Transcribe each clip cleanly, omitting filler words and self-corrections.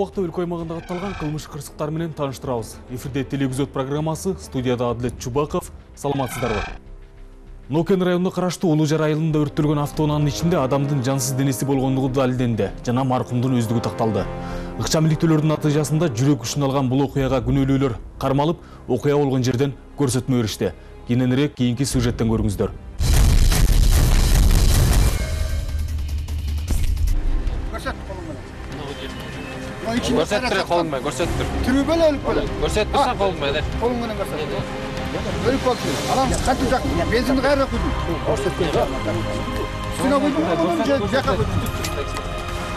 убакта өлкө аймагында катталган кылмыш кырсыктар менен тааныштырабыз. Эфирде телевизиот программасы, студияда Адлет Чубаков. Саламатсыздарбы? Нокен районуна караштуу Улуу-Жар айылында өрттөлгөн автоунаанын ичинде адамдын жансыз денеси болгондугу далилденди жана маркумдун өздүгү такталды. Ыкчам иликтөөлөрдүн натыйжасында жүрөк күчүн алган бул окуяга күнөөлүүлөр кармалып, окуя болгон жерден көрсөтмө беришти. Кийинирээк кийинки сюжеттен көрүңүздөр. Көрсөттүр колуңду, көрсөттүр. Түрү беле өлүп беле. Көрсөттүрсөң колуң менен. Колуң менен көрсөт. Өлүп калды. Анан кантип жак? Бензинди кайра куйдуң? Көрсөттүр. Сына куйдуң, анан жака куйдуң.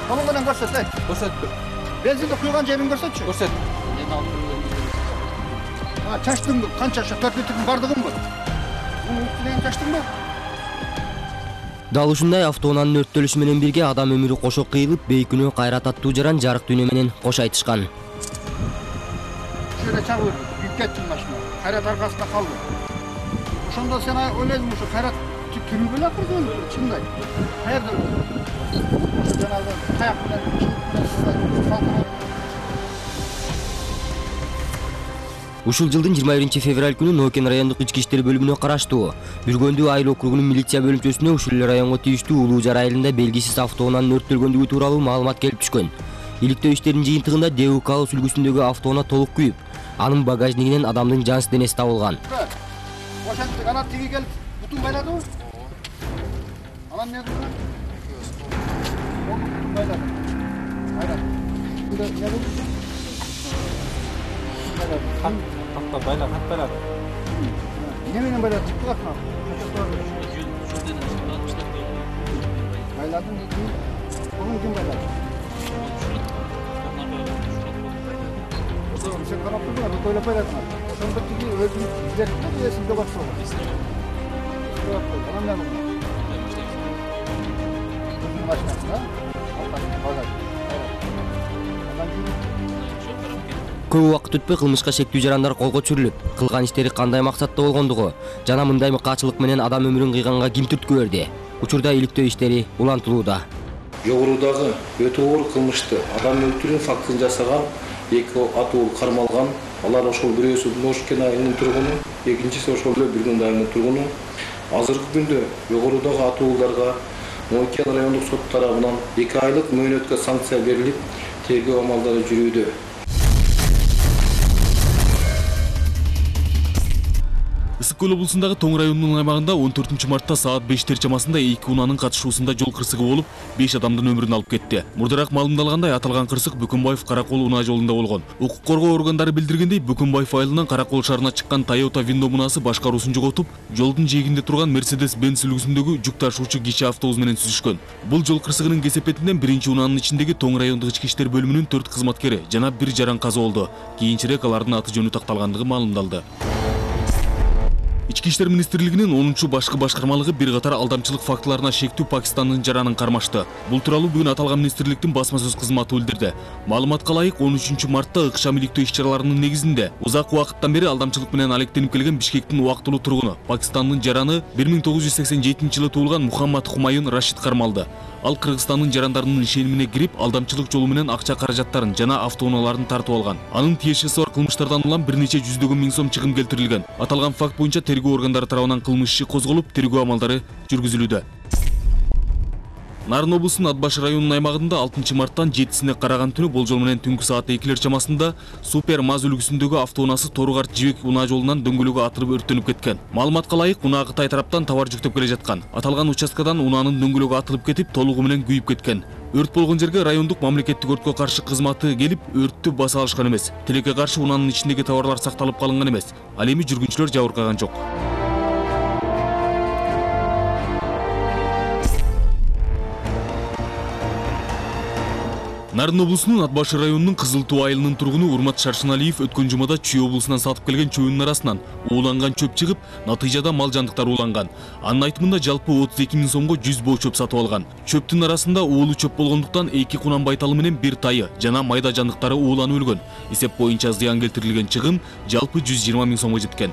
Колуң менен көрсөт, Көрсөттүр. Бензинди куйган жерин көрсөтчү. Көрсөт. Чачтың канча 4 литрдин бардыгынбы? Муну үстүнөн чачтыңбы? Дал ушундай автоунаанын өрттөлүшү менен бирге адам өмүрү кошо кыйылып, бейкүнөө кайра таттуу жаран жарык дүйнө менен кош айтышкан. Шöyle çağırdı, yüklettin başına. Hayrat arkasında kaldı. Ошондо сен ойлойсуң ушу Кайрат түрү беле акырды өлүп, чындай. Каерде өлүп? Жанагы таяк менен Ушул жылдын 21 февраль күнү Нокен райондук ички иштер бөлүмүнө караштуу Бүргөндүү айыл округунун милиция бөлүмчөсүнө ушул эле районго тийиштүү Улуу-Жар айылында белгисиз автоунаанын өрттөлгөндүгү тууралуу маалымат келип түшкөн. Иликтөө иштеринин жыйынтыгында ДУК сүлгүсүндөгү автоунаа толук күйүп, анын багажнигинен адамдын жансыз денеси табылган. Ошентип ана тиги келип бутун байладыбы? Анан эмне кылды? Бутун байлады. Кайрат. Бунда эмне болду? Хат байлады. Не менен байлады? Чыкты катма. Байладым деди. Onu kim bayladı? Sen kanatlı mı? Böyle bayladın. Sen de tigi öldürüp giderken de resimde baksana. Anam ne bu? Başkasına. Көп убакыт өтпөй кылмышка шектүү жарандар колго түшүрүлүп, кылган иштери кандай максатта болгондугу жана мындай мыкаачылык менен адам өмүрүн кыйганга ким түрткү берди? Учурда иликтөө иштери улантылууда. Жогорудагы өтө оор кылмышты адам өлтүрүү фактын жасаган 2 атуу кармалган. Алар ошол бирөөсү Нокен айылынын тургуну, экинчиси ошол эле Бүргөндүү айылынын тургуну. Азыркы күндө жогорудагы атууларга Нокен райондук сот тарабынан 2 айлык мөөнөткө санкция берилип, тергөө амалдары жүрүүдө. Ысык-Көл облусундагы Тоң районунун аймагында 14 мартта саат 5 чамасында 2 унаанын катышуусунда жол кырсыгы болуп, 5 адамдын өмүрүн алып кетти. Мурдараак маалымдалгандай, аталган кырсык Бүкүнбаев Каракол унаа жолунда болгон. Укук коргоо органдары билдиргендей, Бүкүнбаев айылынан Каракол шаарына чыккан Toyota Windo унаасы башкаруусун жоготуп, жолдун жээгинде турган Mercedes-Benz үлгүсүндөгү жүк ташуучу кичи автобус менен сүзүшкөн. Бул жол кырсыгынын кесепетинен биринчи унаанын ичиндеги Тоң райондук ички иштер бөлүмүнүн 4 кызматкери жана 1 жаран каза болду. Кийинчерээк алардын аты жөнү такталгандыгы маалымдалды. Ички иштер министрлигинин 10-чу башкы башкармалыгы бир катар алдамчылык фактыларына шектүү Пакистандын жаранын кармашты. Бул тууралуу бүгүн аталган министрликтин басма сөз кызматы билдирди. Маалыматка ылайык 13 мартта ыкчам иликтөө иш-чараларынын негизинде узак убакыттан бери алдамчылык менен алектенип келген Бишкектин убактылуу тургуну Пакистандын жараны 1987-жылы туулган Мухаммад Хумаюн Рашид кармалды. Ал Кыргызстандын жарандарынын ишенимине кирип, алдамчылык жолу менен акча каражаттарын жана автоунааларын тартып алган. Анын тиешеси бар кылмыштардан улам бир нече жүздөгөн миң сом чыгым келтирилген. Аталган факт боюнча тергөө органдары тарабынан кылмыш иши козголуп, тергөө амалдары жүргүзүлүүдө. Нарын облусунун Ат Баш районунун аймагында 6 марттан 7-сине караган түнү болжол менен түнкү саат 2 чамасында Супер Маз үлгүсүндөгү автоунаасы Тору-Карт Жибек унаа жолунан дөңгөлөгү атырып өрттөнүп кеткен. Маалыматка ылайык, унаа Кытай тараптан товар жүктөп келе жаткан. Аталган участкадан унаанын дөңгөлөгү атылып кетип, толугу менен күйүп кеткен. Өрт болгон жерге райондук мамлекеттик өрткө каршы кызматы келип, өрттү баса алышкан эмес. Тилекке каршы унаанын ичиндеги товарлар сакталып калынган эмес. Ал эми жүргүнчүлөр жабыркаган жок. Нарын облусунун Ат Баш районунун Кызыл Туу айылынын тургуну Урмат Шаршыналиев өткөн жумада Чүй облусунан сатып келген чөбүнүн арасынан ууланган чөп чыгып, натыйжада мал жандыктар ууланган. Анын айтымында жалпы 32 миң сомго 100 боо чөп сатып алган. Чөптүн арасында уулуу чөп болгондуктан 2 кунан байталы менен 1 тайы жана майда жандыктары ууланып өлгөн. Эсеп боюнча зыян келтирилген чыгым жалпы 120 миң сомго жеткен.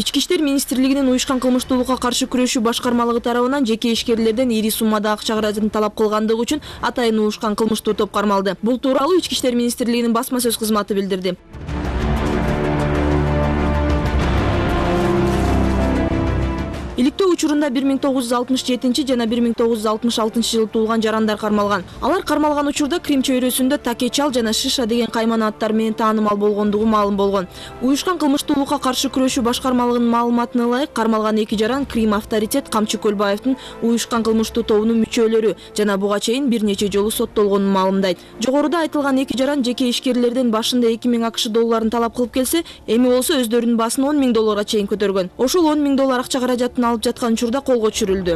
Ички иштер министрлигинин уюшкан кылмыштуулукка каршы күрөшүү башкармалыгы тарабынан жеке ишкерлерден ири суммада акча каражатын талап кылгандыгы үчүн атайын уюшкан кылмыштуу топ кармалды. Бул тууралуу Ички иштер министрлигинин басма сөз кызматы билдирди. Иликтөө учурунда 1967 жана 1966 жылы туулган жарандар кармалган. Алар кармалган учурда Крим чөйрөсүндө Такечал жана Шиша деген кайман аттар менен таанымал болгондугу маалым болгон. Уюшкан кылмыштуулукка каршы күрөшүү башкармалыгынын маалыматына ылайык кармалган 2 жаран Крим авторитет Камчы Көлбаевдин уюшкан кылмыштуу тобунун мүчөлөрү жана буга чейин бир нече жолу соттолгонун маалымдайт. Жогоруда айтылган 2 жаран жеке ишкерлерден башында 2000 АКШ долларын талап кылып келсе, эми болсо өздөрүнүн басын 10 000 долларга чейин көтөргөн. Ошол 10 000 доллар акча каражатын алып жаткан учурда колго түшүрүлдү.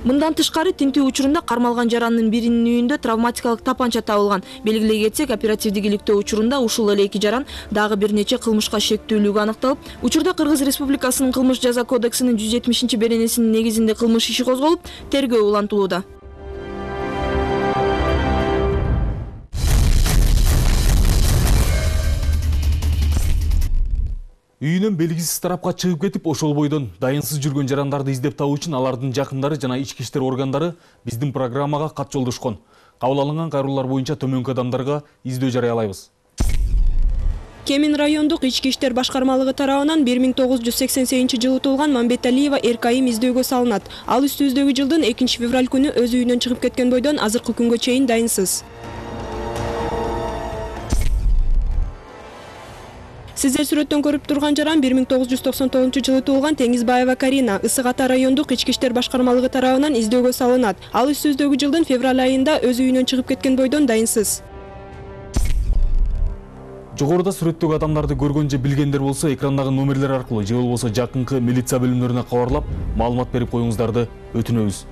Мындан тышкары тинтүү учурунда кармалган жарандын биринин үйүндө травматикалык тапанча табылган. Белгилей кетсек, оперативдик иликтөө учурунда ушул эле 2 жаран дагы бир нече кылмышка шектүүлүгү аныкталып, учурда Кыргыз Республикасынын кылмыш жаза кодексинин 170-беренесинин негизинде кылмыш иши козголуп, тергөө улантылууда. Үйүнөн белгисиз тарапка чыгып кетип, ошол бойдон дайынсыз жүргөн жарандарды издеп табуу үчүн алардын жакындары жана ички иштер органдары биздин программага кат жолдошкон. Кабыл алынган кайрылуулар боюнча төмөнкү адамдарга издөө жарыялайбыз. Кемин райондук ички иштер башкармалыгы тарабынан 1988 жылы туулган Мамбеталиева Эркайым издөөгө салынат. Ал үстүбүздөгү жылдын 2 февраль күнү өз үйүнөн чыгып кеткен бойдон азыркы күнгө чейин дайынсыз. Сиздер сүрөттөн көрүп турган жаран 1999 жылы туулган Теңизбаева Карина Ысык Ата райондук ички иштер башкармалыгы тарабынан издөөгө салынат. Ал үстүбүздөгү жылдын февраль айында өз үйүнөн чыгып кеткен бойдон дайынсыз. Жогоруда сүрөттөгү адамдарды көргөн же билгендер болсо, экрандагы номерлер аркылуу же болбосо жакынкы милиция бөлүмдөрүнө кабарлап, маалымат берип коюңуздарды өтүнөбүз.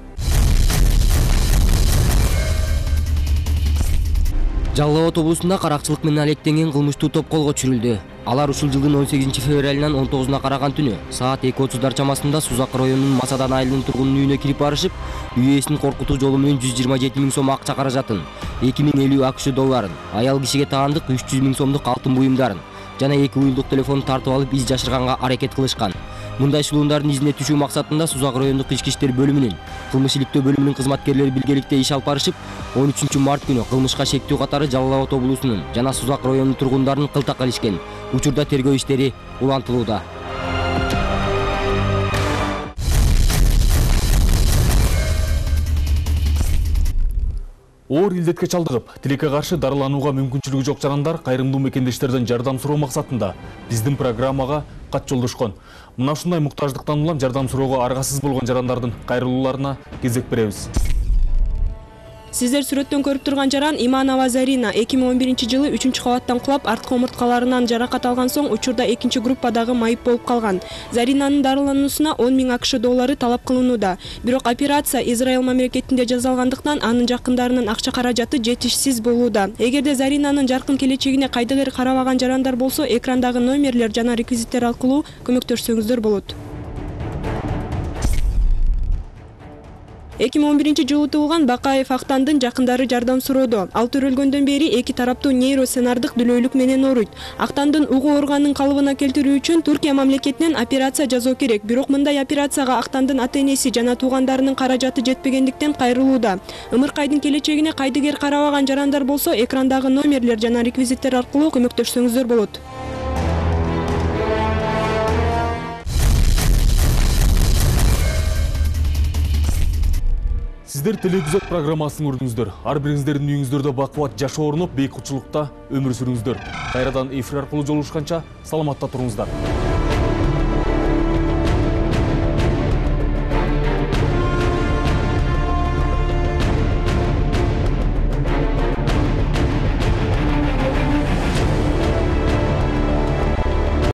Жалал Абад облусунда каракчылык менен алектенген кылмыштуу топ колго түшүрүлдү. Алар ушул жылдын 18 февралынан 19-уна караган түнү саат 2:30 чамасында Сузак районунун Масадан айылынын тургунунун үйүнө кирип барышып, үй ээсин коркутуу жолу менен 127 000 сом акча каражатын, 2050 АКШ долларын, аял кишиге таандык 300 000 сомдук алтын буюмдарын жана 2 уюлдук телефонду тартып алып из жашырганга аракет кылышкан. Мындай шылуундардын изине түшүү максатында Сузак райондук ички иштер бөлүмүнүн кылмыш иликтөө бөлүмүнүн кызматкерлери биргеликте иш алып барышып, 13 март күнү кылмышка шектүү катары Жалал Абад облусунун жана Сузак районунун тургундарын кылтак илишкен. Учурда тергөө иштери улантылууда. Оор илдетке чалдыгып, тилекке каршы дарыланууга мүмкүнчүлүгү жок жарандар кайрымдуу мекендештерден жардам суроо максатында биздин программага кат жолдошкон. Мына ушундай муктаждыктан улам жардам суроого аргасыз болгон жарандардын кайрылууларына кезек беребиз. Сиздер сүрөттөн көрүп турган жаран Иманова Зарина 2011 жылы 3-кабаттан кулап, арткы омурткаларынан жаракат алган соң учурда 2 группадагы майып болуп калган. Заринанын дарылануусуна 10 000 АКШ доллары талап кылынууда. Бирок операция Израиль мамлекетинде жасалгандыктан анын жакындарынын акча каражаты жетишсиз болууда. Эгерде Заринанын жаркын келечегине кайдыгер карабаган жарандар болсо, экрандагы номерлер жана реквизиттер аркылуу көмөктөшсөңүздөр болот. 2011 жылы туулган Бакаев Актандын жакындары жардам суроодо. Ал төрөлгөндөн бери эки тараптуу нейросценардык дүлөйлүк менен ооруйт. Актандын угу органын калыбына келтирүү үчүн Түркия мамлекетинен операция жасоо керек. Бирок мындай операцияга Актандын ата-энеси жана туугандарынын каражаты жетпегендиктен кайрылууда. Ымыркайдын келечегине кайдыгер карабаган жарандар болсо, экрандагы номерлер жана реквизиттер аркылуу көмөктөшсөңүздөр болот. Сиздер телевизор программасын көрдүңүздөр. Ар бириңиздердин үйүңүздөрдө бакубат жашоо орнуп, бейкутчулукта өмүр сүрүңүздөр. Кайрадан эфир аркылуу жолугушканча саламатта туруңуздар.